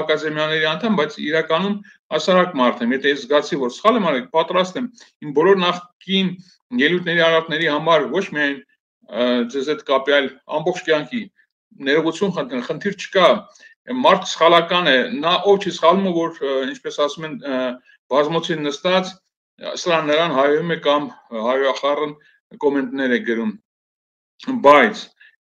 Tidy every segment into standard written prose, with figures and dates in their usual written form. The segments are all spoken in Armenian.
ակադեմիաների անդամ, բայց իրականում հասարակ մարդ եմ, եթե ես զգացի, որ սխալ եմ արել, պատրաստ եմ իմ բոլոր նախկին ելույթների արարքների համար ոչ միայն ձեզ հետ կապի, այլ ամբողջ կյանքի ներողություն խնդրել, խնդիր չկա, մարդ սխալական է, նա ով չի սխալում, որ ինչպես ասում են բազմոցին նստած, սրան նրան հայում է կամ հայոախառն կոմենտներ է գրում, բայց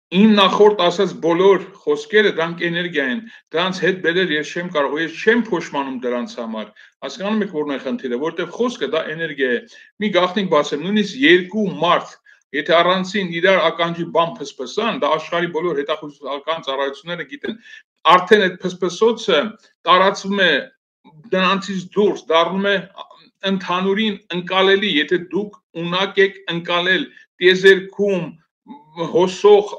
իմ նախորդ ասած բոլոր խոսքերը դրանք էներգիա են, դրանց հետ բերել ես չեմ կարող, ես չեմ փոշմանում դրանց համար, հասկանում եք որն է խնդիրը, որտեղ խոսքը դա էներգիա է, մի գաղտնիք բացեմ, նույնիսկ երկու մարդ, եթե առանցին իրար ականջի բան փսփսան, դա աշխարհի բոլոր հետախուզական ծառայությունները գիտեն, արդեն այդ փսփսոցը տարածվում է դրանցից դուրս, դառնում է ընդհանուրին ընկալելի, եթե դուք ունակ եք ընկալել տիեզերքում հոսող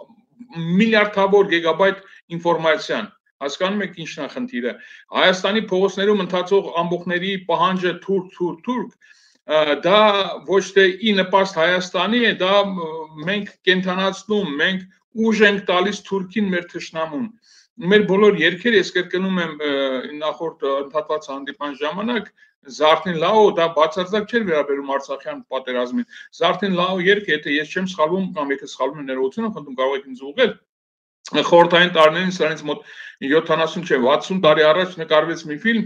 միլիարդավոր գիգաբայթ ինֆորմացիան, հասկանում եք ինչն է խնդիրը, Հայաստանի փողոցներում ընթացող ամբոխների պահանջը թուրք, դա ոչ թե ի նպաստ Հայաստանի է, դա մենք կենթանացնում, մենք ուժ ենք տալիս թուրքին մեր թշնամուն, մեր բոլոր երգերը, ես կրկնում եմ նախորդ ընդհատված հանդիպման ժամանակ, Զարթին լաո, դա բացարձակ չէր վերաբերում Արցախյան պատերազմին, Զարթին լաո երգը, եթե ես չեմ սխալվում, կամ եթե սխալվում եմ ներողություն խնդրում, կարող եք ինձ ուղղել, խորհրդային տարիներին սրանից մոտ 70 չէ, 60 տարի առաջ նկարվեց մի ֆիլմ,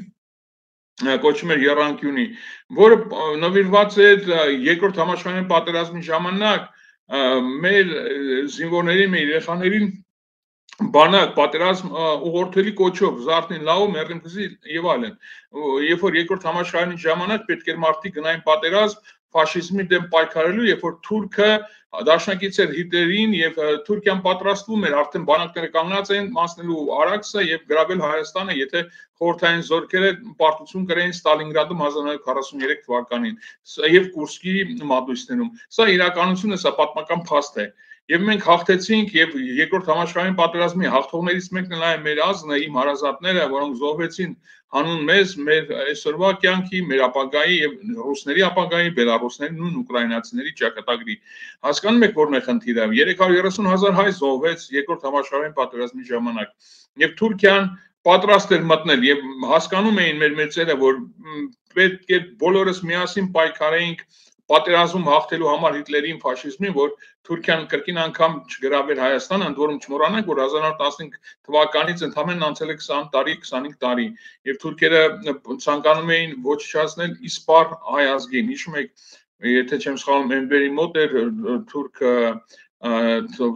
կոչվում էր Եռանկյունի, որը նվիրված է երկրորդ համաշխարհային պատերազմի ժամանակ մեր զինվորներին, մեր երեխաներին բանակ, պատերազմ ուղղորդելի կոչով, Զարթին լաո, մեռնի եւ այլն, երբ որ երկրորդ համաշխարհային ժամանակ պետք էր մարդիկ գնային պատերազմ ֆաշիզմի դեմ պայքարելու, երբ որ թուրքը դաշնակից էր Հիտլերին եւ Թուրքիան պատրաստվում էր, արդեն բանակները կանգնած էին մասնելու Արաքսը եւ գրավել Հայաստանը, եթե խորհրդային զորքերը պարտություն կրեին Ստալինգրադում 1943 թվականին եւ Կուրսկի մատույցներում, սա իրականություն է, սա պատմական փաստ է Եվ մենք հաղթեցինք եւ երկրորդ համաշխարհային պատերազմի հաղթողներից մեկն էլ մեր ազգն է, իմ հարազատները, որոնք զոհվեցին հանուն մեզ, մեր այսօրվա կյանքի, մեր ապագայի եւ ռուսների ապագայի, բելարուսների, նույն ուկրաինացիների ճակատագրի։ Հասկանում եք որն է խնդիրը։ 330,000 հայ զոհվեց երկրորդ համաշխարհային պատերազմի ժամանակ։ Եվ Թուրքիան պատրաստ էր մտնել եւ հասկանում էին մեր մեծերը, որ պետք է բոլորս միասին պայքարեինք պատերազմում հաղթելու համար Հիտլերին, ֆաշիզմին, որ Թուրքիան կրկին անգամ չգրավեր Հայաստանը, ընդ որում չմոռանանք, որ 1915 թվականից ընդամենը անցել է 20 տարի, 25 տարի, եւ թուրքերը ցանկանում էին ոչնչացնել իսպար հայ ազգին։ Հիշում եք, եթե չեմ սխալվում, Էնվերի մոտ էր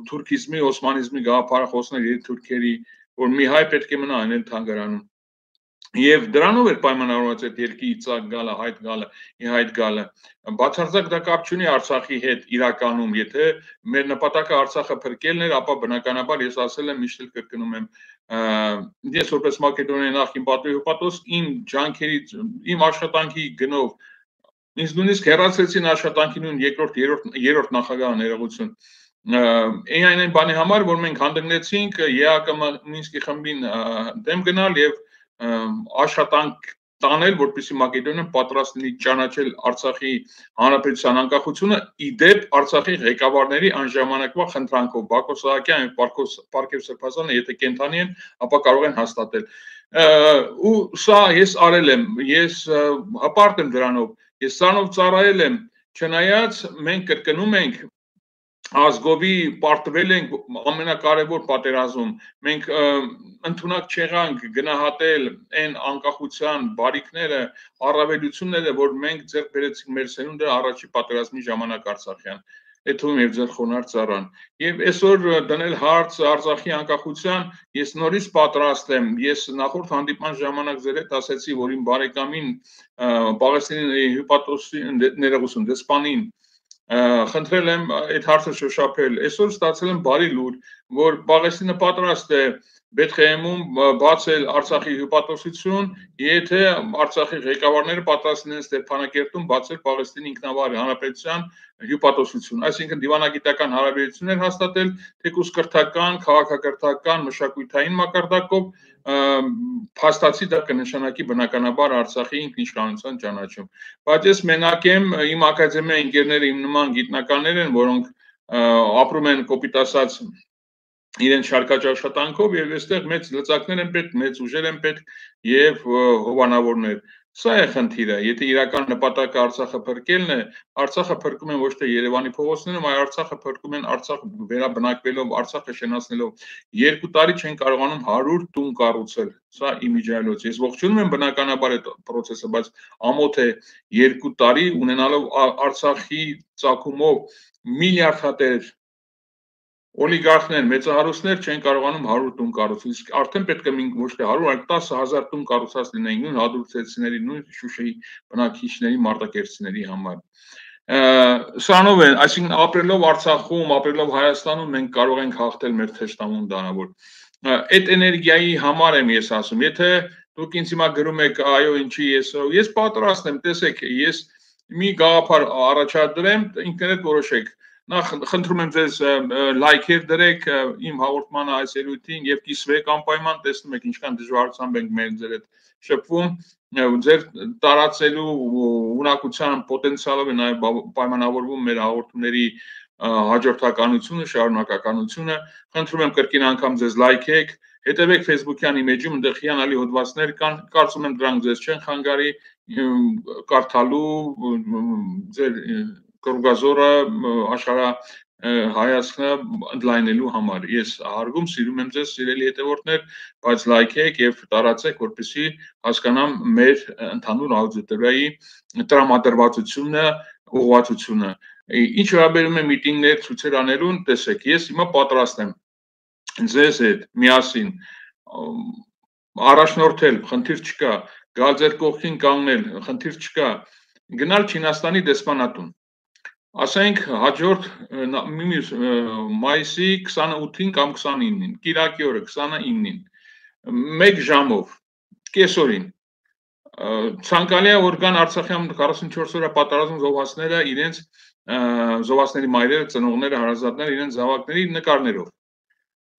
թուրքիզմի, օսմանիզմի գաղափարախոսներ թուրքերի, որ մի հայ պետք է մնա այն թանգարանում։ Եվ դրանով էր պայմանավորված այդ երկրի ծակ գալը, հայտ գալը, բացարձակ դա կապ չունի Արցախի հետ իրականում, եթե մեր նպատակը Արցախը փրկելն էր, ապա բնականաբար ես ասել եմ, միշտ կրկնում եմ, ես որպես Մակեդոնիայի նախկին պատվիրապատող իմ ջանքերի, իմ աշխատանքի գնով, ինձ նույնիսկ հեռացրեցին աշխատանքի նույն երրորդ նախագահ ներողություն, այն բանի համար, որ մենք հանդգնեցինք ԵԱԿՄ Մինսկի խմբին դեմ գնալ եւ աշխատանք տանել, որպեսզի Մակեդոնիան պատրաստ լինի ճանաչել Արցախի հանրապետության անկախությունը, իդեպ Արցախի ղեկավարների անժամանակվա խնդրանքով Բակո Սահակյան եւ Պարքև Սրբազանը, եթե կենթանի են, ապա կարող են հաստատել։ Ու սա ես արել եմ, ես հպարտ եմ դրանով, ես սրանով ծառայել եմ, չնայած մենք կրկնում ենք ազգովի պարտվել ենք ամենակարևոր պատերազմում, մենք ընդունակ չեղանք գնահատել այն անկախության բարիքները, առավելությունները, որ մենք ձեռք բերեցինք մեր սերունդը առաջի պատերազմի ժամանակ Արցախյան, Էթում եւ ձեր խոնարհ ծառան։ Եվ այսօր դնել հարց Արցախի անկախության, ես նորից պատրաստ եմ, ես նախորդ հանդիպման ժամանակ ձեր հետ ասացի, որ իմ բարեկամին Պաղեստինի հյուպատոսի ներողություն դեսպանին խնդրել եմ այդ հարցը շոշափել, այսօր ստացել եմ բարի լուր, որ Պաղեստինը պատրաստ է Բեթխեհեմում բացել Արցախի հյուպատոսություն, եթե Արցախի ղեկավարները պատրաստ լինեն Ստեփանակերտում բացել Պաղեստինի ինքնավար հանրապետության հյուպատոսություն, այսինքն դիվանագիտական հարաբերություններ հաստատել, թեկուզ կրթական, քաղաքակրթական, մշակութային մակարդակով, փաստացի դա կնշանակի բնականաբար Արցախի ինքնիշխանության ճանաչում։ Բայց ես մենակ եմ, իմ ակադեմիայի ընկերները իմ նման գիտնականներ են, որոնք ապրում են կոպիտ ասած իրեն շարքաճ աշխատանքով եւ այստեղ մեծ լծակներ են պետք, մեծ ուժեր են պետք եւ հովանավորներ։ Սա է խնդիրը, եթե իրական նպատակը Արցախը փրկելն է, Արցախը փրկում են ոչ թե Երևանի փողոցներում, այլ Արցախը փրկում են Արցախ վերաբնակվելով, Արցախը շենացնելով։ 2 տարի չեն կարողանում 100 տուն կառուցել։ Սա իմիջիայլոց։ Ես ողջունում եմ բնականաբար այդ process-ը, բայց ամոթ է 2 տարի ունենալով Արցախի ծագումով միլիարդատեր օլիգարխներ, մեծահարուստներ չեն կարողանում 100 տուն կառուցել, իսկ արդեն պետք է ոչ թե 100, այլ 10,000 տուն կառուցած լինեին նույն հադրութեցիների, նույն Շուշիի բնակիչների, մարտակերտցիների համար։ Սրանով է, այսինքն ապրելով Արցախում, ապրելով Հայաստանում մենք կարող ենք հաղթել մեր թշնամուն դանավոր։ Այդ էներգիայի համար եմ ես ասում, եթե դուք ինձ հիմա գրում եք, այո, ինչի ես պատրաստ եմ, տեսեք, ես մի գաղափար առաջադրեմ, ինքներդ որոշեք։ Նախ խնդրում եմ ձեզ լայքեր դրեք իմ հաղորդմանը այս ելույթին եւ կիսվեք անպայման, տեսնում եք ինչքան դժվարությամբ ենք մեր ձեր հետ շփվում, ձեր տարածելու ունակության պոտենցիալով է նաեւ պայմանավորվում մեր հաղորդումների հաջորդականությունը, շարունակականությունը։ Խնդրում եմ կրկին անգամ ձեզ լայքեք, հետևեք Facebook-յան իմեջում, այնտեղ հիանալի հոդվածներ կան, կարծում եմ դրանք ձեզ չեն խանգարի կարդալու ձեր կրուգազորը աշխարհ հայացքը ընդլայնելու համար։ Ես հարգում, սիրում եմ ձեզ, սիրելի հետևորդներ, բայց լայքեք եւ տարածեք, որպեսզի հասկանամ մեր ընդհանուր աուդիտորիայի տրամադրվածությունը, ուղղվածությունը։ Ինչ վերաբերում է միտինգներ, ցույցեր անելուն, տեսեք, ես հիմա պատրաստ եմ ձեզ հետ միասին առաջնորդել, խնդիր չկա, գալ ձեր կողքին կանգնել, խնդիր չկա, գնալ Չինաստանի դեսպանատուն։ Ասենք հաջորդ մայիսի 28-ին կամ 29-ին, կիրակի օրը 29-ին, 1 ժամով, կեսօրին, ցանկալի է որ գան Արցախյան 44 օրյա պատերազմ զոհվածները իրենց զոհվածների մայրերը, ծնողները, հարազատները իրենց զավակների նկարներով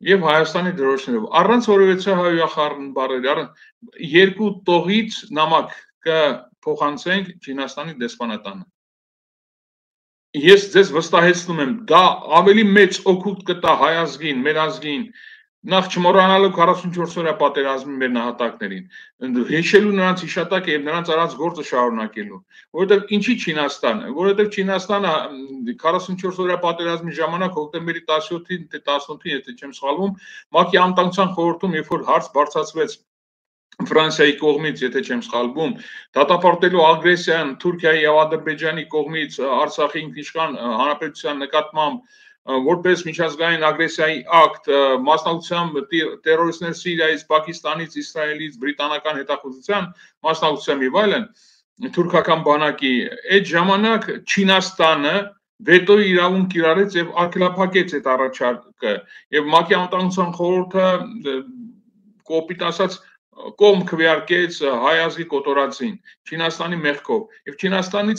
եւ Հայաստանի դրոշներով, առանց որևէ հայոյախառն բառերի, երկու տողից նամակ կփոխանցենք Չինաստանի դեսպանատանը։ Ես ձեզ վստահեցնում եմ, դա ավելի մեծ օգուտ կտա հայ ազգին, մեր ազգին, նախ չմոռանալով 44 օրյա պատերազմի մեր նահատակներին, հիշելու նրանց հիշատակը եւ նրանց արած գործը շարունակելու, որովհետեւ ինչի Չինաստանը, որովհետեւ Չինաստանը 44 օրյա պատերազմի ժամանակ հոկտեմբերի 17-ին, թե 18-ին, եթե չեմ սխալվում, ՄԱԿ-ի անվտանգության խորհրդում, երբ որ հարց բարձրացվեց Ֆրանսիայի կողմից, եթե չեմ սխալվում, դատապարտելու ագրեսիան Թուրքիայի եւ Ադրբեջանի կողմից Արցախի ինքնիշխան հանրապետության նկատմամբ որպես միջազգային ագրեսիայի ակտ, մասնակցությամբ տերորիստներ Սիրիայից, Պակիստանից, Իսրայելից, բրիտանական հետախուզության մասնակցությամբ եւ այլն, թուրքական բանակի, այդ ժամանակ Չինաստանը վետոյի իրավունք կիրառեց եւ արգելափակեց այդ առաջարկը եւ ՄԱԿ-ի անվտանգության խորհուրդը կոպիտ ասած կողմ քվեարկեց հայ ազգի կոտորածին Չինաստանի մեղքով եւ Չինաստանից